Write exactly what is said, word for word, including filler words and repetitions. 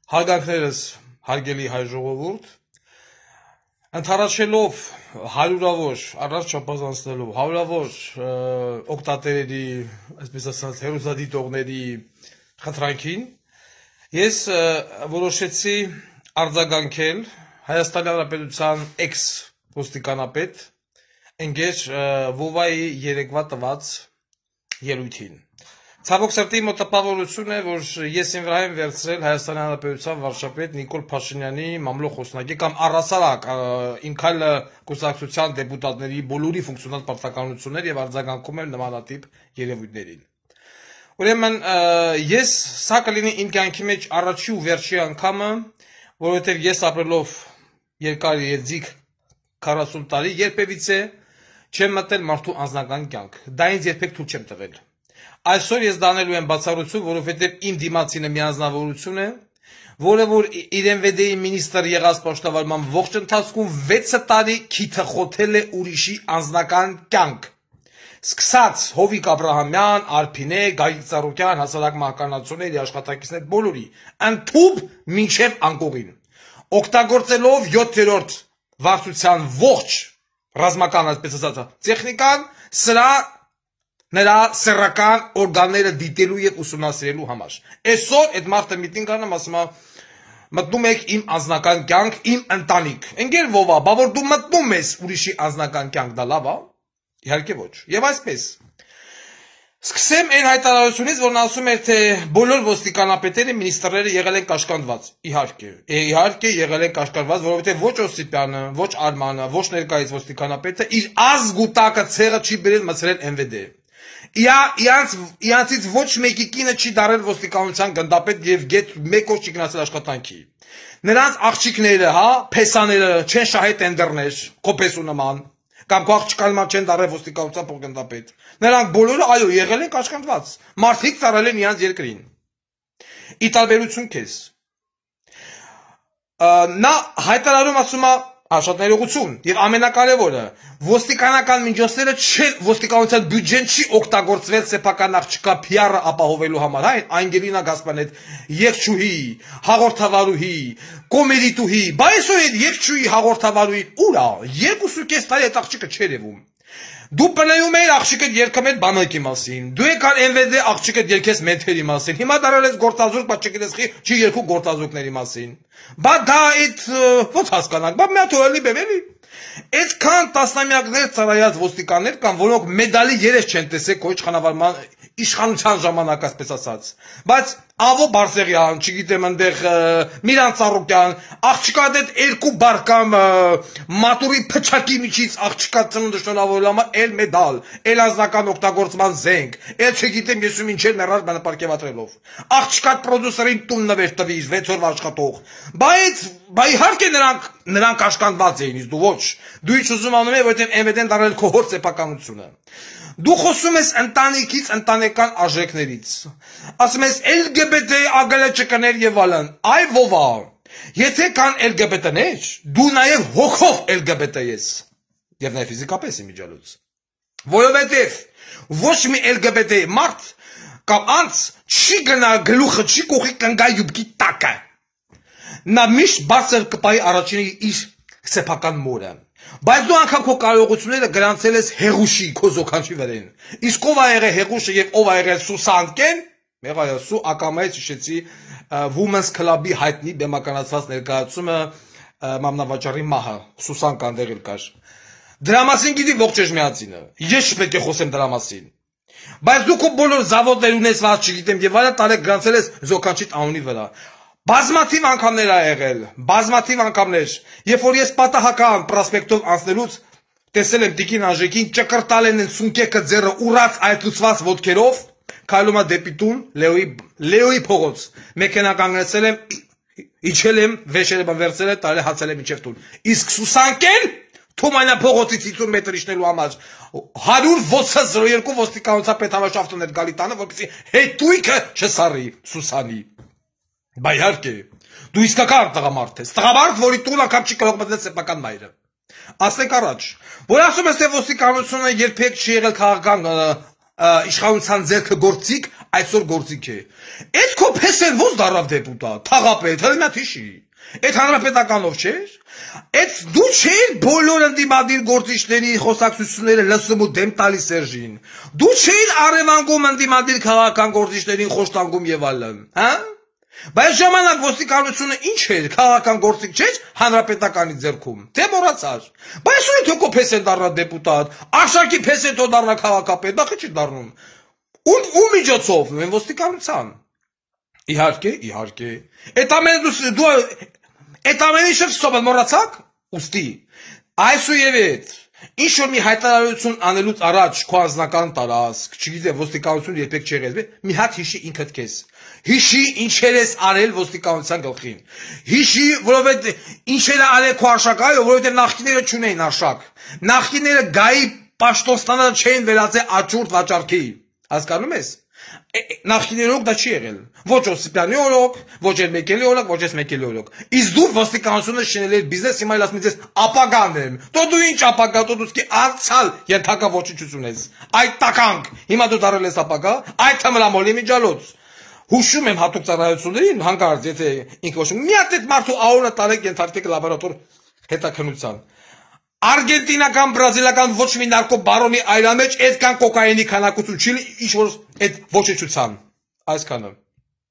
Հարգանքներս հարգելի հայ ժողովուրդ, ընդառաջելով հարյուրավոր, առանց չափազանցնելու, հարյուրավոր օգտատերերի, այսպես ասած, հեռուստադիտողների խնդրանքին, ես որոշեցի արձագանքել Հայաստանի Հանրապետության էքս ոստիկանապետ ընկեր Վովայի երեկվա տված ելույթին։ Ցավոք սրտի մոտ տպավորություն է, որ ես իմ վրա եմ վերցրել Հայաստանի Հանրապետության վարչապետ Նիկոլ Փաշինյանի մամլո խոսնակի կամ առհասարակ իմ քայլը կուսակցության դեպուտատների բոլորի ֆունկցիոնալ պարտականություններ եւ արձագանքում եմ նմանատիպ երևույթներին։ Ուրեմն ես սա կլինի իմ կյանքի մեջ առաջի ու վերջի անգամը, որովհետեւ ես ապրելով երկար եզիկ քառասուն տարի երբևիցե չեմ մտել մարդու անձնական կյանք։ Դա ինձ երբեք թույլ չեմ տվել։ Այսօր ես դանելու եմ բացառություն, որովհետև իմ դիմացինը մի անձնավորություն է, որը որ իրեն վեդեի մինիստր եղած պաշտավարման ողջ ընթացքում վեց տարի քիթը խոթել է ուրիշի անձնական կյանք։ Սկսած Հովիկ Աբրահամյան, Արփինե, Գագիկ Ծառուկյան, հասարակ մահկանացուների, աշխատակիցներ բոլորի, ընդཐུպ մինչև անկողին։ Օգտագործելով յոթերորդ վարչության ողջ ռազմական, այսպես ասած, տեխնիկան, սրա նրա սեռական օրգանները դիտելու եւ ուսումնասիրելու համար։ Այսօր այդ մարդը միտինգ անում, ասում է, մտնում եք իմ անձնական կյանք, իմ ընտանիք։ Ընկեր Վովա, բա որ դու մտնում ես ուրիշի անձնական կյանք, դա լավ է։ Իհարկե ոչ։ Եվ այսպես։ Սկսեմ այն հայտարարությունից, որն ասում էր, թե բոլոր ոստիկանապետերը, մինիստրները եղել են կաշկանդված։ Իհարկե, իհարկե եղել են կաշկանդված, որովհետև ոչ Օսիպյանը, ոչ Արմանը, ոչ ներկայիս ոստիկանապետը իր ազգուտակը ցեղը չի բերել մցրել Էն Վե Դե։ Իրանցից ոչ մեկի կինը չի դարել ոստիկանության գնդապետ եւ գետ մեկ օր չի գնացել աշխատանքի։ Նրանց աղջիկները, հա, փեսաները չեն շահե տենդերներ, կոպեսու նման, կամ քո աղջկան նման չեն դարել ոստիկանության փոխգնդապետ։ Նրանք բոլորը, այո, եղել են կաշկանդված։ Մարդիկ ծառայել են իրանց երկրին։ Ի տարբերություն քեզ։ Նա հայտարարում ասում է շատ ներողություն եւ ամենակարևորը ոստիկանական միջոցները չեն ոստիկանության բյուջեն չի օգտագործվել սեփական աղջկա Փի Ար-ը ապահովելու համար, հա, Անգելինա Գասպարյան, երգչուհի, հաղորդավարուհի, կոմեդիտուհի, բայց այսօր այդ երգչուհի հաղորդավարուհի ուր է, երկուսուկես տարի այդ աղջիկը չէր ևում։ Դու պլեյում էիր աղջիկդ երգում էր բանակի մասին, դու եկար Էն Վե Դե աղջիկդ երգես մեթերի մասին, հիմա դարել ես գործազուրկ, բայց չգիտես չի երկու գործազուրկների մասին։ Բա դա այդ ո՞ց հասկանանք, բա մի հատ օրելի բևելի։ Այդքան տասնամյակներ ծառայած ոստիկաններ կան, որոնք մեդալի երես չեն տեսել քո իշխանավարման իշխանության ժամանակ, այսպես ասած։ Բայց Ավո Բարսեղյան, չգիտեմ այնտեղ Միրան Ծառուկյան, աղջկա այդ երկու բար կամ մատուրի փչակի միջից աղջկա ծնունդը շնորհավորելու համար էլ մեդալ, էլ անձնական օգտագործման զենք, էլ չգիտեմ ես ու մինչև ներառ բանապարգևատրելով։ Աղջկա պրոդյուսերին տուն նվեր տվիր վեց օրվա աշխատող։ Բայց բա իհարկե նրանք նրանք կաշկանդված էին, իսկ դու ոչ։ Դու ինչ ուզում անում ես, որովհետև Էն Վե Դեն դարել քո հոր սեփականությունը։ Դու խոսում ես ընտանիքից, ընտանեկան արժեքներից։ Ասում ես Էլ Գե Բե Դե ԱԳԼ եւ այլն։ Այ Վովա, եթե կան Էլ Գե Բե Դեներ, դու նաեւ հոգով Էլ Գե Բե Դե ես։ Եվ նաեւ ֆիզիկապես իմիջալուց։ Որովհետեւ ոչ մի Էլ Գե Բե Դե մարդ կամ անց չի գնա գլուխը չի կողի կնգա յուբկի տակը։ Նա միշտ բարձր կպայի առաջինը իր սեփական մորը։ Բայց դու անգամ քո կարողությունները գրանցել ես հեղուշի քո զոքանչի վրան։ Իսկ ով ա եղել հեղուշը եւ ով ա եղել Սուսանկեն, մեղայա Սու ակամայից հիշեցի Women's Club-ի հայտնի բեմականացված ներկայացումը մամնավաճառի մահը, Սուսան կանդեղել կար։ Դրա մասին գիտի ողջ էջմիածինը։ Ես չպետք է խոսեմ դրա մասին։ Բայց դու քո բոլոր զավոդներ ունես, ված չգիտեմ, եւ այլն տարեք գրանցել ես զոքանչիդ անունի վրա։ Բազմաթիվ անգամներ ա եղել, բազմաթիվ անգամներ, երբ որ ես պատահական պրոսպեկտով անցնելուց տեսել եմ Տիկին Անժեկին ճկրտալ են սունկեկը ձեռը ուռած այտուցված ոտքերով, քայլում է դեպի տուն, Լեոյի Լեոյի փողոց, մեքենա կանգնեցել եմ, իջել եմ, վեշերը վերցրել եմ, տարել հացել եմ մինչև տուն։ Իսկ Սուսանկեն Թումանյա փողոցից հիսուն մետր իջնելու համար հարյուր ութ զրո երկու ոստիկանության պետհամաշաֆտն էր գալի տանը, որպեսզի հետույքը չսարի Սուսանի։ Բա իհարկե, դու իսկական տղամարդ ես, տղամարդ, որի տուն անգամ չի կարող մտնել սեփական մայրը։ Ասենք առաջ, որ ասում ես, թե ոստիկանությունը երբեք չի եղել քաղաքական իշխանության ձեռքը գործիք, այսօր գործիք է։ Այդ քո փեսեն ո՞ց դարավ դեպուտատ, թաղապետ, հենց հիշի։ Այդ հանրապետականով չէր։ Այդ դու չէր բոլոր ընդդիմադիր գործիչների խոսակցությունները լսում ու դեմ տալիս Սերժին։ Դու չէր արևանգում ընդդիմադիր քաղաքական գործիչներին խոշտանգում եւ այլն, հա։ Բայց ժամանակ ոստիկանությունը ինչ էր, քաղաքական գործիք չէր հանրապետականի ձեռքում, թե մոռացար։ Բայց ո՞ւր թե քո փեսեն դառնա դեպուտատ, Արշակի փեսեն թո դառնա քաղաքապետ, դա չի դառնում։ Ու ու միջոցով, նույն ոստիկանության։ Իհարկե, իհարկե։ Այդ ամենը դու դու այդ ամենը շփսոբը մոռացաք, ուստի։ Այսուհեւ այդ ինչ որ մի հայտարարություն անելուց առաջ քո անձնական տարածք, չգիտեմ, ոստիկանություն երբեք չի եղել, մի հատ հիշի ինքդ քեզ։ Հիշի ինչեր ես արել ոստիկանության գլխին։ Հիշի, որովհետեւ ինչեր է արել քո արշակայով, որովհետեւ նախկիները չունեին արշակ։ Նախկիները գայի պաշտոնստանալը չէին վերածել աճուրդ վաճառքի։ Հասկանում ես։ Նախկիներով դա չի եղել։ Ոչ Օսիպյանի օրոք, ոչ էլ Մեկելի օրոք, ոչ էլ Մեկելի օրոք։ Իսկ դու ոստիկանությունը շինել ես բիզնես, հիմա ասում ես ապագան եմ։ Դու դու ինչ ապագա, դու դու անցալ ենթակա ոչնչություն ես։ Այդ տականք։ Հիմա դու դարել ես ապագա, այդ թմրամոլի միջալոց։ Հուշում եմ հատուկ ծառայություններին, հանկարծ եթե ինքը ոչմ մի հատ այդ մարդու աուրը տարեք ենթարկեք լաբորատոր հետաքննության։ Արգենտինական, բրազիլական ոչ մի նարկո բարոնի այլամեջ այդքան կոկայինի քանակություն չի ինչ որ այդ ոչնչության այսքանը